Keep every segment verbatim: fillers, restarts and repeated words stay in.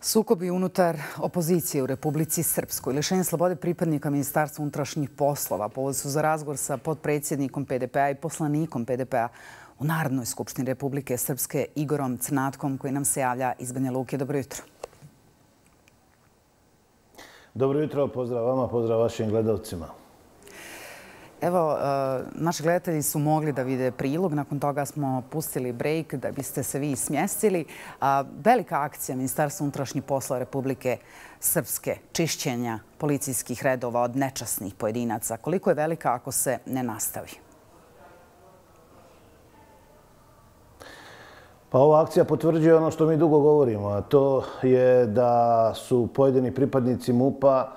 Sukobi unutar opozicije u Republici Srpskoj, lišenje slobode pripadnika Ministarstva unutrašnjih poslova, povod su za razgovor sa potpredsjednikom P D P-a i poslanikom P D P-a u Narodnoj skupštini Republike Srpske Igorom Crnatkom, koji nam se javlja iz Banja Luke. Dobro jutro. Dobro jutro, pozdrav vama, pozdrav vašim gledalcima. Evo, naši gledatelji su mogli da vide prilog, nakon toga smo pustili break da biste se vi smjestili. Velika akcija Ministarstva unutrašnjih poslova Republike Srpske, čišćenja policijskih redova od nečasnih pojedinaca. Koliko je velika ako se ne nastavi? Pa ova akcija potvrđuje ono što mi dugo govorimo, a to je da su pojedini pripadnici MUP-a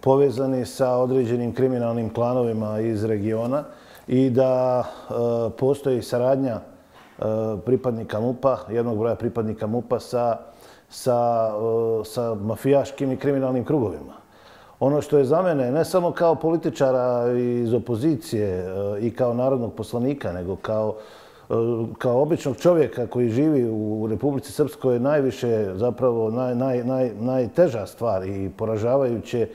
povezani sa određenim kriminalnim klanovima iz regiona i da postoji saradnja pripadnika MUP-a, jednog broja pripadnika MUP-a sa, sa, sa mafijaškim i kriminalnim krugovima. Ono što je za mene, ne samo kao političara iz opozicije i kao narodnog poslanika, nego kao kao običnog čovjeka koji živi u Republici Srpskoj, najviše, zapravo naj, naj, naj, najteža stvar i poražavajuće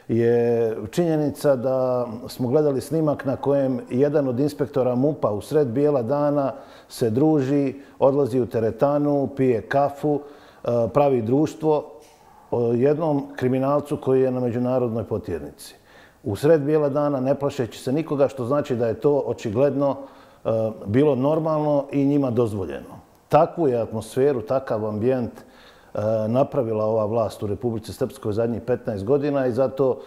je činjenica da smo gledali snimak na kojem jedan od inspektora MUP-a u sred bijela dana se druži, odlazi u teretanu, pije kafu, pravi društvo jednom kriminalcu koji je na međunarodnoj potjernici. U sred bijela dana, ne plašeći se nikoga, što znači da je to očigledno bilo normalno i njima dozvoljeno. Takvu je atmosferu, takav ambijent napravila ova vlast u Republici Srpskoj zadnjih petnaest godina i zato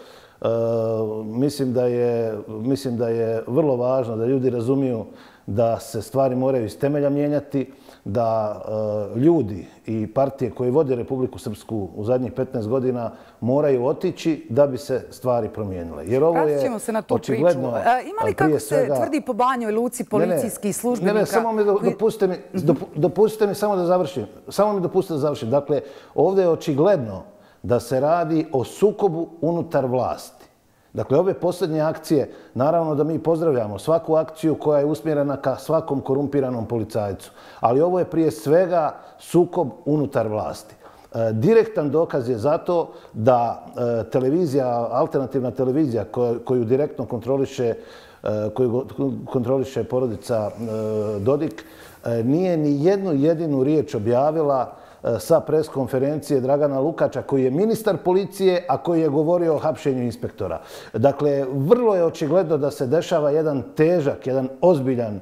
mislim da je, mislim da je vrlo važno da ljudi razumiju da se stvari moraju iz temelja mijenjati, da ljudi i partije koje vode Republiku Srpsku u zadnjih petnaest godina moraju otići da bi se stvari promijenile. Jer ovo je očigledno... Ima li, kako se tvrdi po Banjoj Luci, policijskih službenika? Ne, ne, samo mi dopustite mi, dopustite mi samo da završim. Samo mi dopustite da završim. Dakle, ovdje je očigledno da se radi o sukobu unutar vlasti. Dakle, ove posljednje akcije, naravno da mi pozdravljamo svaku akciju koja je usmjerena ka svakom korumpiranom policajcu. Ali ovo je prije svega sukob unutar vlasti. Direktan dokaz je zato da televizija, alternativna televizija koju direktno kontroliše, koju kontroliše porodica Dodik, nije ni jednu jedinu riječ objavila sa preskonferencije Dragana Lukača, koji je ministar policije, a koji je govorio o hapšenju inspektora. Dakle, vrlo je očigledno da se dešava jedan težak, jedan ozbiljan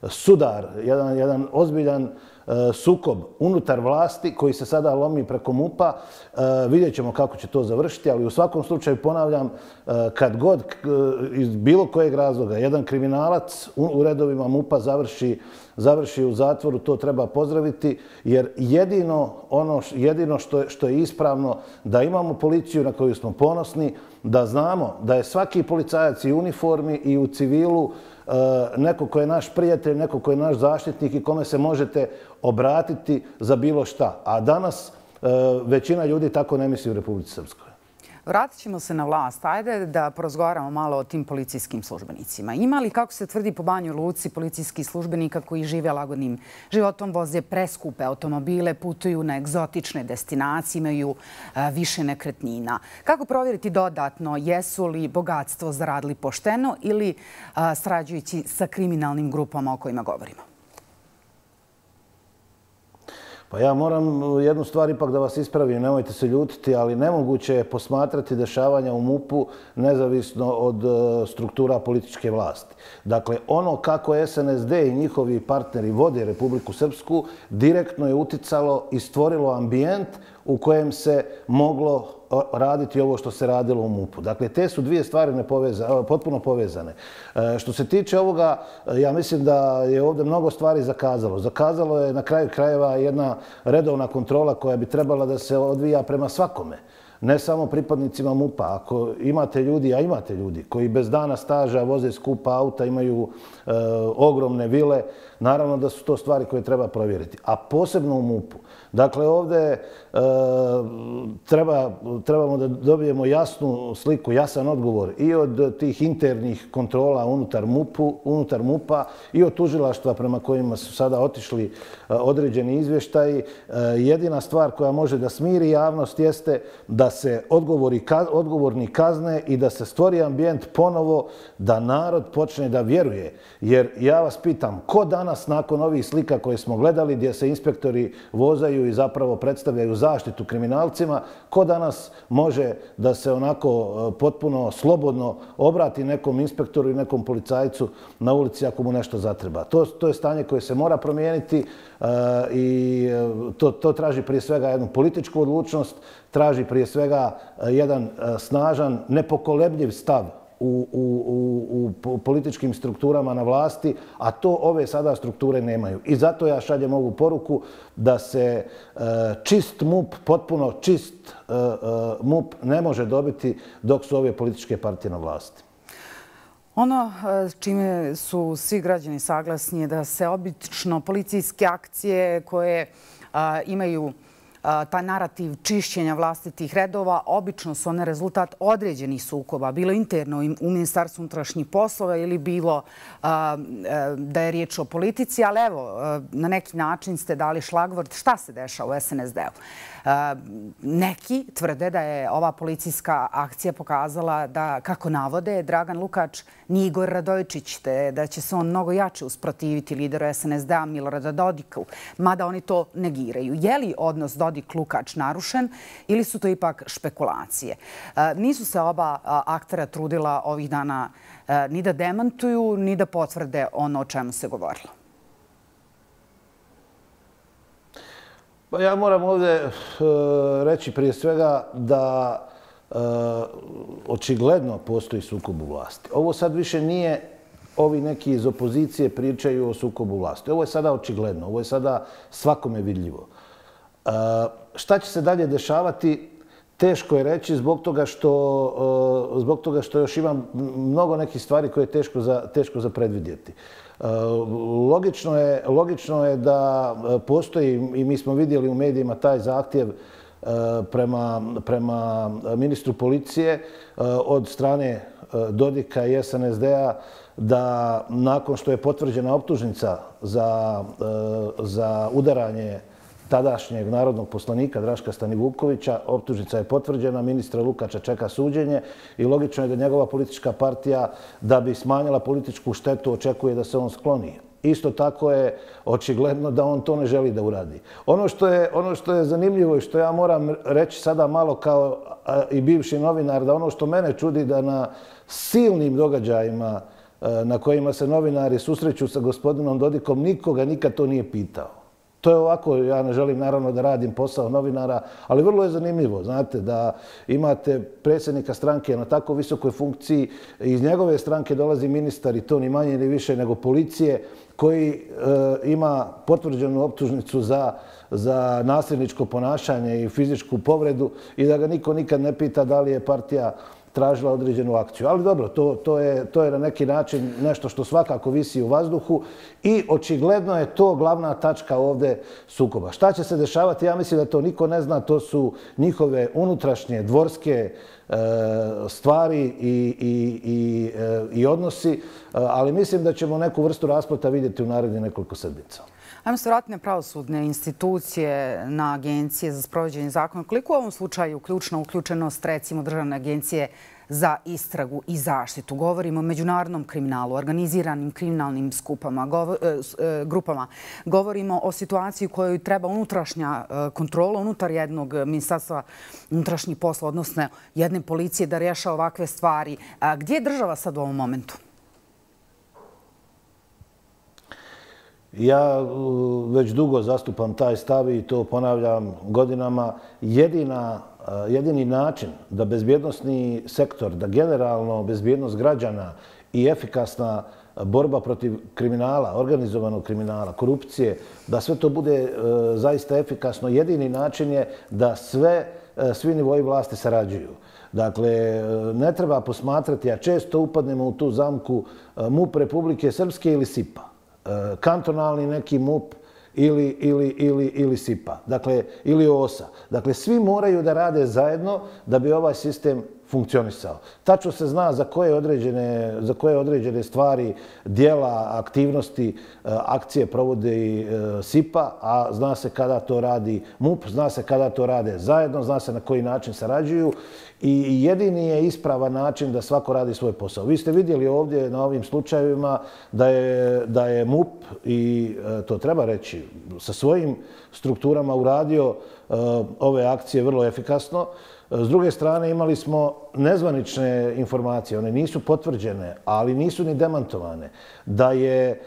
sudar, jedan, jedan ozbiljan sukob unutar vlasti koji se sada lomi preko MUP-a. Vidjet ćemo kako će to završiti, ali u svakom slučaju ponavljam, kad god iz bilo kojeg razloga jedan kriminalac u redovima MUP-a završi, završi u zatvoru, to treba pozdraviti, jer jedino ono jedino što je, što je ispravno da imamo policiju na koju smo ponosni, da znamo da je svaki policajac i u uniformi i u civilu neko ko je naš prijatelj, neko ko je naš zaštitnik i kome se možete obratiti za bilo šta. A danas većina ljudi tako ne misli u Republici Srpskoj. Vratit ćemo se na vlast. Ajde da porozgovaramo malo o tim policijskim službenicima. Ima li, kako se tvrdi po Banjoj Luci, policijskih službenika koji žive lagodnim životom, voze preskupe automobile, putuju na egzotične destinacije, imaju više nekretnina? Kako provjeriti dodatno jesu li bogatstvo zaradili pošteno ili sarađujući sa kriminalnim grupama o kojima govorimo? Pa ja moram jednu stvar ipak da vas ispravim, nemojte se ljutiti, ali nemoguće je posmatrati dešavanja u MUP-u nezavisno od struktura političke vlasti. Dakle, ono kako S N S D i njihovi partneri vode Republiku Srpsku direktno je uticalo i stvorilo ambijent u kojem se moglo raditi ovo što se radilo u MUP-u. Dakle, te su dvije stvari nepoveza, potpuno povezane. Što se tiče ovoga, ja mislim da je ovdje mnogo stvari zakazalo. Zakazalo je na kraju krajeva jedna redovna kontrola koja bi trebala da se odvija prema svakome. ne samo pripadnicima MUP-a. Ako imate ljudi, a imate ljudi, koji bez dana staža voze skupa auta, imaju e, ogromne vile, naravno da su to stvari koje treba provjeriti. A posebno u MUP-u. Dakle, ovdje e, treba, trebamo da dobijemo jasnu sliku, jasan odgovor i od tih internih kontrola unutar MUP-u, unutar MUP-a i od tužilaštva prema kojima su sada otišli određeni izvještaji. Jedina stvar koja može da smiri javnost jeste da se odgovori, odgovorni kazne i da se stvori ambijent ponovo da narod počne da vjeruje. Jer ja vas pitam, ko danas nakon ovih slika koje smo gledali gdje se inspektori vozaju i zapravo predstavljaju zaštitu kriminalcima, ko danas može da se onako potpuno slobodno obrati nekom inspektoru i nekom policajcu na ulici ako mu nešto zatreba. To, to je stanje koje se mora promijeniti uh, i to, to traži prije svega jednu političku odlučnost, traži prije svega jedan uh, snažan, nepokolebljiv stav U, u, u, u političkim strukturama na vlasti, a to ove sada strukture nemaju. I zato ja šaljem ovu poruku da se uh, čist MUP, potpuno čist uh, uh, MUP ne može dobiti dok su ove političke partije na vlasti. Ono čime su svi građani saglasni je da se obično policijske akcije koje uh, imaju taj narativ čišćenja vlastitih redova, obično su one rezultat određenih sukoba, bilo interno u Ministarstvu unutrašnjih poslova ili bilo da je riječ o politici, ali evo, na neki način ste dali šlagvort šta se dešava u es en es de u. Neki tvrde da je ova policijska akcija pokazala da, kako navode, Dragan Lukač nije Igor Radojičić, te da će se on mnogo jače usprotiviti lideru es en es de a Milorada Dodiku, mada oni to negiraju. Je li odnos Dodik-Lukač narušen ili su to ipak špekulacije? Nisu se oba aktera trudila ovih dana ni da demantuju, ni da potvrde ono o čemu se govorilo. Pa ja moram ovdje reći prije svega da očigledno postoji sukob u vlasti. Ovo sad više nije ovi neki iz opozicije pričaju o sukobu vlasti. Ovo je sada očigledno, ovo je sada svakome vidljivo. Šta će se dalje dešavati? Teško je reći zbog toga što, zbog toga što još ima mnogo nekih stvari koje je teško za, teško za predvidjeti. Logično je, logično je da postoji, i mi smo vidjeli u medijima taj zahtjev prema, prema ministru policije od strane Dodika i es en es de a da nakon što je potvrđena optužnica za, za udaranje tadašnjeg narodnog poslanika Draška Stanivukovića, optužnica je potvrđena, ministra Lukača čeka suđenje i logično je da njegova politička partija, da bi smanjila političku štetu, očekuje da se on skloni. Isto tako je očigledno da on to ne želi da uradi. Ono što je, ono što je zanimljivo i što ja moram reći sada malo kao i bivši novinar, da ono što mene čudi da na silnim događajima na kojima se novinari susreću sa gospodinom Dodikom, nikoga nikad to nije pitao. To je ovako, ja ne želim naravno da radim posao novinara, ali vrlo je zanimljivo, znate, da imate predsjednika stranke na tako visokoj funkciji, iz njegove stranke dolazi ministar i to ni manje ni više nego policije, koji e, ima potvrđenu optužnicu za, za nasilničko ponašanje i fizičku povredu i da ga niko nikad ne pita da li je partija tražila određenu akciju. Ali dobro, to, to, je, to je na neki način nešto što svakako visi u vazduhu i očigledno je to glavna tačka ovdje sukoba. Šta će se dešavati? Ja mislim da to niko ne zna. To su njihove unutrašnje dvorske e, stvari i, i, i, e, i odnosi, e, ali mislim da ćemo neku vrstu raspleta vidjeti u narednih nekoliko sedmica. Ajmo se vratiti na pravosudne institucije, na agencije za sprovođenje zakona. Koliko u ovom slučaju ključna uključenost, recimo, Državne agencije za istragu i zaštitu? Govorimo o međunarodnom kriminalu, organiziranim kriminalnim skupama, govor, e, grupama. Govorimo o situaciji u kojoj treba unutrašnja kontrola unutar jednog ministarstva unutrašnjih posla, odnosno jedne policije da rješava ovakve stvari. A gdje je država sad u ovom momentu? Ja već dugo zastupam taj stav i to ponavljam godinama. Jedina, jedini način da bezbjednosni sektor, da generalno bezbjednost građana i efikasna borba protiv kriminala, organizovanog kriminala, korupcije, da sve to bude zaista efikasno, jedini način je da sve svi nivoji vlasti sarađuju. Dakle, ne treba posmatrati, a često upadnemo u tu zamku MUP Republike Srpske ili SIPA. Kantonalni neki MUP ili, ili, ili, ili SIPA, dakle, ili OSA. Dakle, svi moraju da rade zajedno da bi ovaj sistem funkcionisao. Tačno se zna za koje određene, za koje određene stvari, dijela, aktivnosti, akcije provode i SIPA, a zna se kada to radi MUP, zna se kada to rade zajedno, zna se na koji način sarađuju i jedini je ispravan način da svako radi svoj posao. Vi ste vidjeli ovdje na ovim slučajevima da je, da je MUP, i to treba reći, sa svojim strukturama uradio ove akcije vrlo efikasno. S druge strane, imali smo nezvanične informacije, one nisu potvrđene, ali nisu ni demantovane, da je,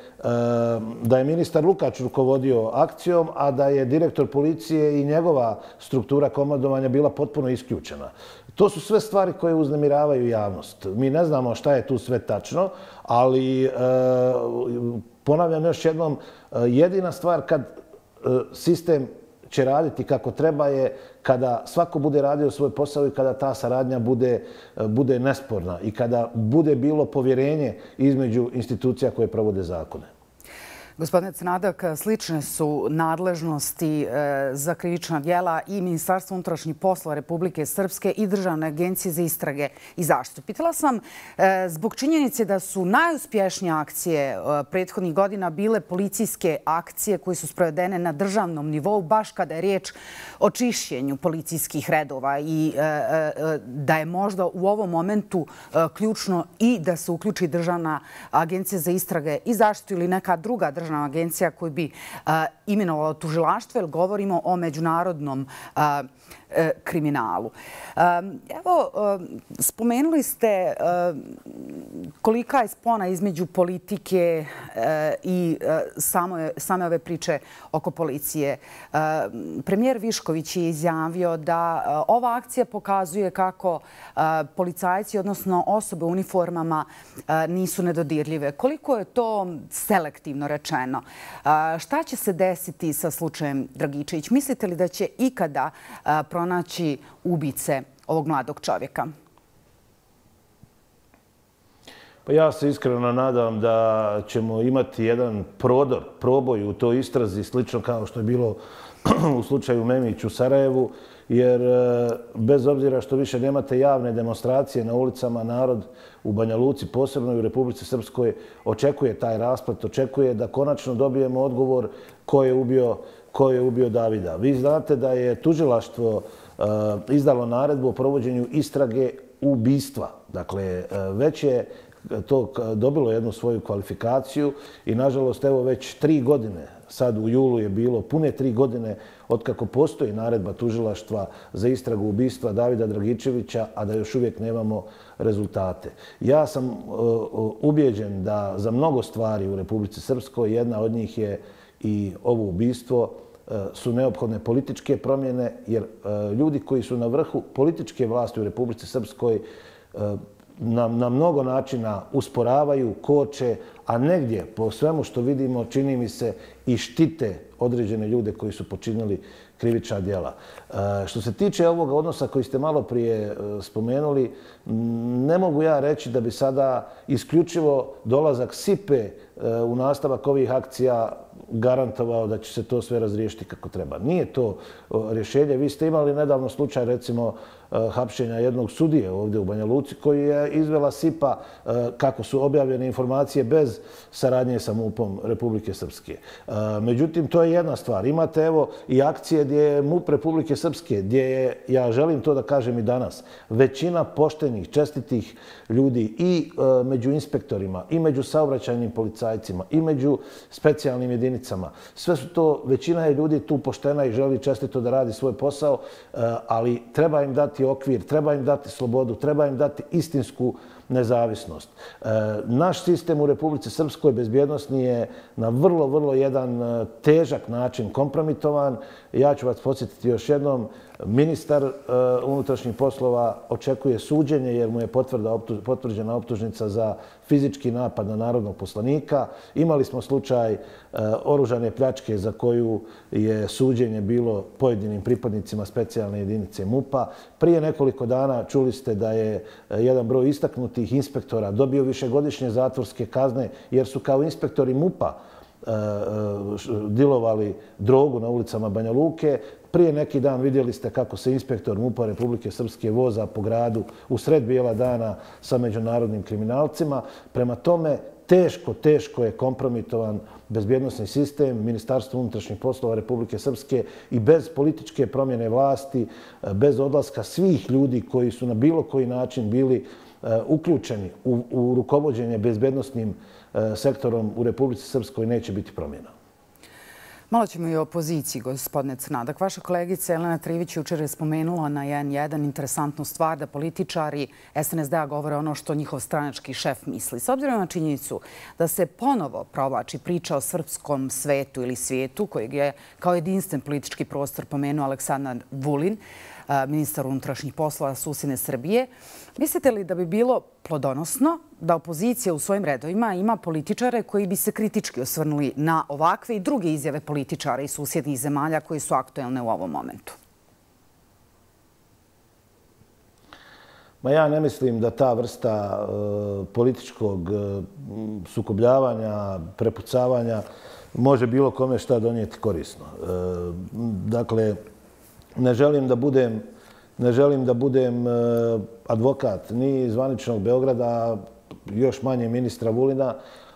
da je ministar Lukač rukovodio akcijom, a da je direktor policije i njegova struktura komandovanja bila potpuno isključena. To su sve stvari koje uznemiravaju javnost. Mi ne znamo šta je tu sve tačno, ali ponavljam još jednom, jedina stvar kad sistem će raditi kako treba je kada svako bude radio svoj posao i kada ta saradnja bude, bude nesporna i kada bude bilo povjerenje između institucija koje provode zakone. Gospodine Crnadak, slične su nadležnosti za krivična djela i Ministarstva unutrašnjih poslova Republike Srpske i Državne agencije za istrage i zaštitu. Pitala sam zbog činjenice da su najuspješnije akcije prethodnih godina bile policijske akcije koje su sprovedene na državnom nivou, baš kada je riječ o čišćenju policijskih redova i da je možda u ovom momentu ključno i da se uključi Državna agencija za istrage i zaštitu ili neka druga državna agencija koju bi imenovala tužilaštvo, jer govorimo o međunarodnom kriminalu. Evo, spomenuli ste kolika je spona između politike i same ove priče oko policije. Premijer Višković je izjavio da ova akcija pokazuje kako policajci, odnosno osobe u uniformama, nisu nedodirljive. Koliko je to selektivno rečeno? Šta će se desiti sa slučajem Dragičević? Mislite li da će ikada pronaći ubice ovog mladog čovjeka? Pa ja se iskreno nadam da ćemo imati jedan prodor, proboj u toj istrazi, slično kao što je bilo u slučaju Memić u Sarajevu, jer bez obzira što više nemate javne demonstracije na ulicama, narod u Banja Luci, posebno i u Republici Srpskoj, očekuje taj rasplet, očekuje da konačno dobijemo odgovor ko je ubio, ko je ubio Davida. Vi znate da je tužilaštvo izdalo naredbu o provođenju istrage ubistva. Dakle, već je to dobilo jednu svoju kvalifikaciju i, nažalost, evo već tri godine, sad u julu je bilo pune tri godine otkako postoji naredba tužilaštva za istragu ubistva Davida Dragičevića, a da još uvijek nemamo rezultate. Ja sam ubijeđen da za mnogo stvari u Republici Srpskoj, jedna od njih je i ovo ubistvo, su neophodne političke promjene, jer ljudi koji su na vrhu političke vlasti u Republici Srpskoj na, na mnogo načina usporavaju, koče, a negdje, po svemu što vidimo, čini mi se i štite određene ljude koji su počinili krivična djela. Što se tiče ovog odnosa koji ste malo prije spomenuli, ne mogu ja reći da bi sada isključivo dolazak SIPE u nastavak ovih akcija garantovao da će se to sve razriješiti kako treba. Nije to rješenje. Vi ste imali nedavno slučaj, recimo, hapšenja jednog sudije ovdje u Banja Luci koji je izvela SIPA kako su objavljene informacije bez saradnje sa MUP-om Republike Srpske. Međutim, to je jedna stvar. Imate evo i akcije gdje je MUP Republike Srpske, gdje je, ja želim to da kažem i danas, većina poštenih, čestitih ljudi i među inspektorima, i među saobraćajnim policajcima, i među specijalnim jedinicama. Sve su to, većina je ljudi tu poštena i želi čestito da radi svoj posao, ali treba im dati okvir, treba im dati slobodu, treba im dati istinsku nezavisnost. Naš sistem u Republici Srpskoj bezbjednosni je na vrlo, vrlo jedan težak način kompromitovan. Ja ću vas podsjetiti još jednom, Ministar unutrašnjih poslova očekuje suđenje jer mu je potvrđena optužnica za fizički napad na narodnog poslanika. Imali smo slučaj oružane pljačke za koju je suđenje bilo pojedinim pripadnicima specijalne jedinice MUP-a. Prije nekoliko dana čuli ste da je jedan broj istaknutih inspektora dobio višegodišnje zatvorske kazne jer su kao inspektori MUP-a dilovali drogu na ulicama Banja Luke. Prije neki dan vidjeli ste kako se inspektor MUP-a Republike Srpske voza po gradu u sred bijela dana sa međunarodnim kriminalcima. Prema tome, teško, teško je kompromitovan bezbjednosni sistem Ministarstva unutrašnjih poslova Republike Srpske i bez političke promjene vlasti, bez odlaska svih ljudi koji su na bilo koji način bili uključeni u, u rukovođenje bezbjednosnim sektorom u Republici Srpskoj neće biti promjena. Malo ćemo i o opoziciji, gospodine Crnadak. Vaša kolegica Jelena Trivić jučer je spomenula na en jedan interesantnu stvar da političari es en es de-a govore ono što njihov stranački šef misli. S obzirom na činjenicu da se ponovo provlači priča o srpskom svetu ili svijetu, kojeg je kao jedinstven politički prostor pomenuo Aleksandar Vulin, ministar unutrašnjih poslova susjedne Srbije. Mislite li da bi bilo plodonosno da opozicija u svojim redovima ima političare koji bi se kritički osvrnuli na ovakve i druge izjave političara iz susjednih zemalja koji su aktuelne u ovom momentu? Ma ja ne mislim da ta vrsta političkog sukobljavanja, prepucavanja može bilo kome šta donijeti korisno. Dakle, ne želim da budem Ne želim da budem advokat ni zvaničnog Beograda, još manje ministra Vulina,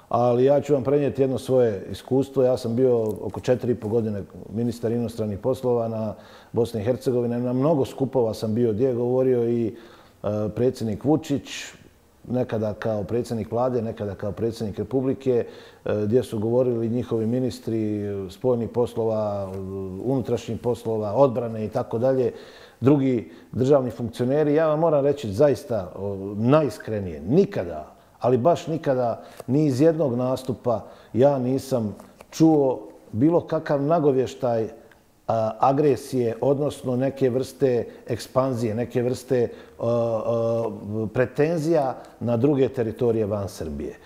ali ja ću vam prenijeti jedno svoje iskustvo. Ja sam bio oko četiri i po godine ministar inostranih poslova na Bosni i Hercegovini. Na mnogo skupova sam bio gdje je govorio i predsjednik Vučić, nekada kao predsjednik vlade, nekada kao predsjednik Republike, gdje su govorili njihovi ministri spoljnih poslova, unutrašnjih poslova, odbrane i tako dalje, drugi državni funkcioneri. Ja vam moram reći zaista najiskrenije, nikada, ali baš nikada, ni iz jednog nastupa ja nisam čuo bilo kakav nagovještaj agresije, odnosno neke vrste ekspanzije, neke vrste pretenzija na druge teritorije van Srbije.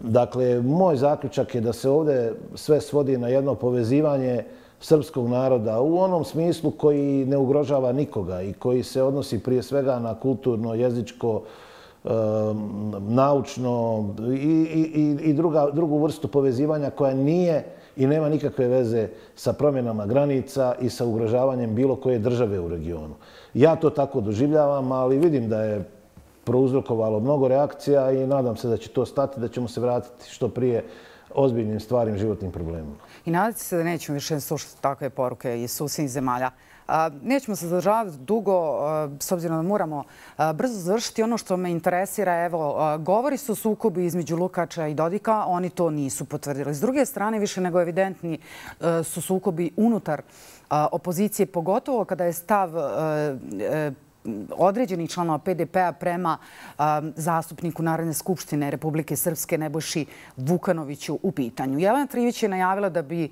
Dakle, moj zaključak je da se ovdje sve svodi na jedno povezivanje srpskog naroda u onom smislu koji ne ugrožava nikoga i koji se odnosi prije svega na kulturno, jezičko, naučno i, i, i druga, drugu vrstu povezivanja koja nije i nema nikakve veze sa promjenama granica i sa ugrožavanjem bilo koje države u regionu. Ja to tako doživljavam, ali vidim da je prouzrokovalo mnogo reakcija i nadam se da će to stati, da ćemo se vratiti što prije ozbiljnim stvarnim životnim problemima. I nadate se da nećemo više slušati takve poruke iz susjednih zemalja. Nećemo se zadržavati dugo, s obzirom da moramo brzo završiti. Ono što me interesira, evo, govori su o sukobu između Lukača i Dodika, oni to nisu potvrdili. S druge strane, više nego evidentni su sukobi unutar opozicije, pogotovo kada je stav određenih članova pe de pe-a prema zastupniku Narodne skupštine Republike Srpske Nebojši Vukanoviću u pitanju. Jelena Trivić je najavila da bi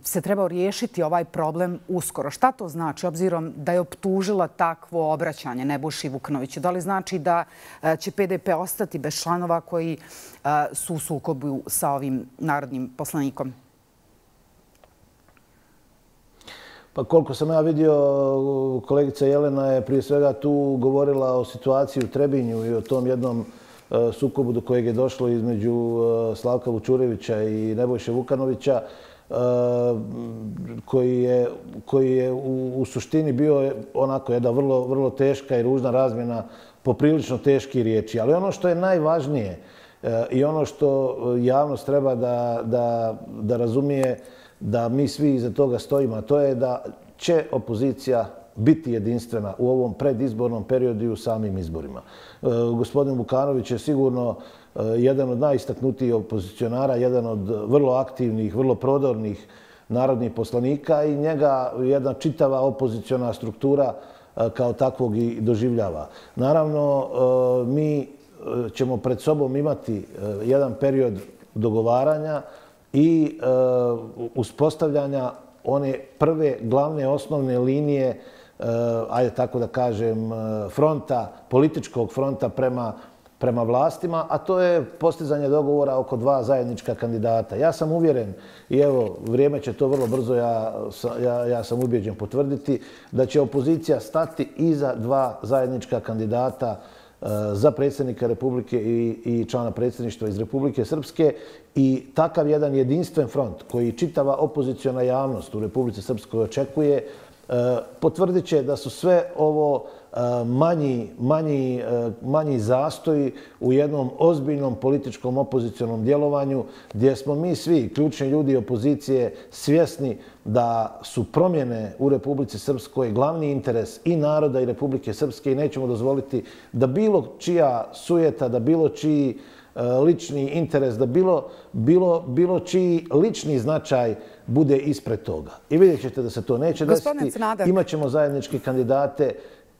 se trebao riješiti ovaj problem uskoro. Šta to znači, obzirom da je optužila takvo obraćanje Nebojši Vukanoviću? Da li znači da će pe de pe ostati bez članova koji su u sukobu sa ovim narodnim poslanikom? Pa koliko sam ja vidio, kolegica Jelena je prije svega tu govorila o situaciji u Trebinju i o tom jednom sukobu do kojeg je došlo između Slavka Vučurevića i Nebojše Vukanovića, koji je, koji je u, u suštini bio onako jedna vrlo, vrlo teška i ružna razmjena poprilično teški riječi. Ali ono što je najvažnije i ono što javnost treba da, da, da razumije, da mi svi iza toga stojimo, a to je da će opozicija biti jedinstvena u ovom predizbornom periodu i u samim izborima. Gospodin Vukanović je sigurno jedan od najistaknutijih opozicionara, jedan od vrlo aktivnih, vrlo prodornih narodnih poslanika i njega jedna čitava opoziciona struktura kao takvog i doživljava. Naravno, mi ćemo pred sobom imati jedan period dogovaranja i uspostavljanja one prve, glavne, osnovne linije, ajde tako da kažem, fronta, političkog fronta prema prema vlastima, a to je postizanje dogovora oko dva zajednička kandidata. Ja sam uvjeren, i evo, vrijeme će to vrlo brzo, ja, ja, ja sam ubjeđen potvrditi, da će opozicija stati iza dva zajednička kandidata uh, za predsjednika Republike i, i člana predsjedništva iz Republike Srpske i takav jedan jedinstven front koji čitava opoziciona javnost u Republici Srpskoj očekuje, uh, potvrdit će da su sve ovo manji, manji, manji zastoji u jednom ozbiljnom političkom opozicionom djelovanju gdje smo mi svi, ključni ljudi opozicije, svjesni da su promjene u Republici Srpskoj glavni interes i naroda i Republike Srpske i nećemo dozvoliti da bilo čija sujeta, da bilo čiji lični interes, da bilo, bilo, bilo čiji lični značaj bude ispred toga. I vidjet ćete da se to neće desiti. Imaćemo zajedničke kandidate.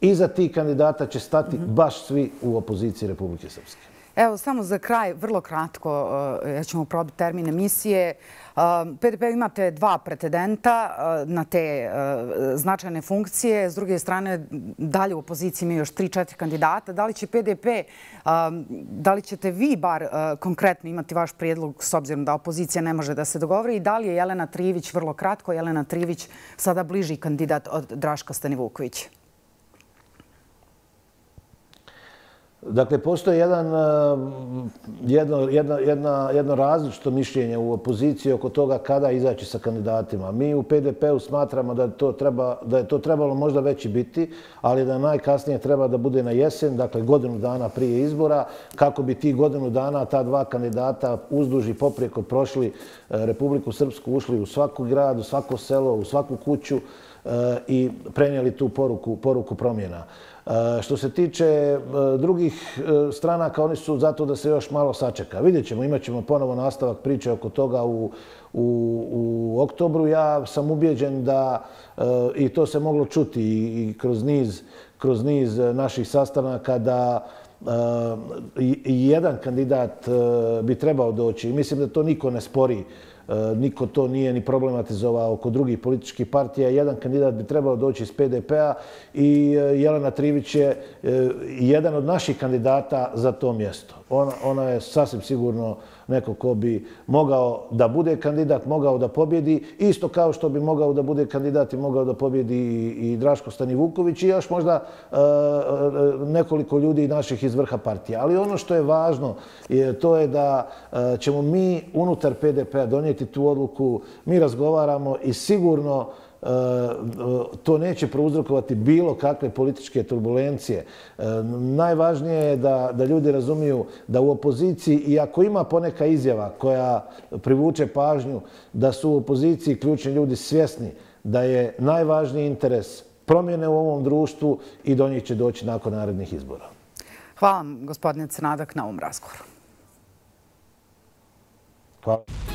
Iza tih kandidata će stati baš svi u opoziciji Republike Srpske. Evo, samo za kraj, vrlo kratko, ja ćemo probiti termin emisije. P D P imate dva pretendenta na te značajne funkcije. S druge strane, dalje u opoziciji imaju još tri, četiri kandidata. Da li će P D P, da li ćete vi bar konkretno imati vaš prijedlog s obzirom da opozicija ne može da se dogovori i da li je Jelena Trivić, vrlo kratko, Jelena Trivić sada bliži kandidat od Draška Stanivukovića? Dakle, postoji jedan, jedno, jedna, jedna, jedno različito mišljenje u opoziciji oko toga kada izaći sa kandidatima. Mi u P D P-u smatramo da, to treba, da je to trebalo možda već i biti, ali da najkasnije treba da bude na jesen, dakle godinu dana prije izbora, kako bi ti godinu dana ta dva kandidata uzduž i poprijeko prošli Republiku Srpsku, ušli u svaku grad, u svako selo, u svaku kuću i prenijeli tu poruku, poruku promjena. Što se tiče drugih stranaka, oni su zato da se još malo sačeka. Vidjet ćemo, imat ćemo ponovo nastavak priče oko toga u, u, u oktobru. Ja sam ubijeđen da, i to se moglo čuti i kroz niz, kroz niz naših sastanaka, da i jedan kandidat bi trebao doći. Mislim da to niko ne spori. Niko to nije ni problematizovao oko drugih političkih partija. Jedan kandidat bi trebao doći iz P D P-a i Jelena Trivić je jedan od naših kandidata za to mjesto. Ona, ona je sasvim sigurno neko ko bi mogao da bude kandidat, mogao da pobjedi, isto kao što bi mogao da bude kandidat i mogao da pobjedi i, i Draško Stanivuković i još možda e, nekoliko ljudi naših iz vrha partija. Ali ono što je važno je, to je da e, ćemo mi unutar P D P-a donijeti tu odluku. Mi razgovaramo i sigurno to neće prouzrokovati bilo kakve političke turbulencije. Najvažnije je da, da ljudi razumiju da u opoziciji, i ako ima poneka izjava koja privuče pažnju, da su u opoziciji ključni ljudi svjesni da je najvažniji interes promjene u ovom društvu i do njih će doći nakon narednih izbora. Hvala vam, gospodine Crnadak, na ovom razgovoru. Hvala.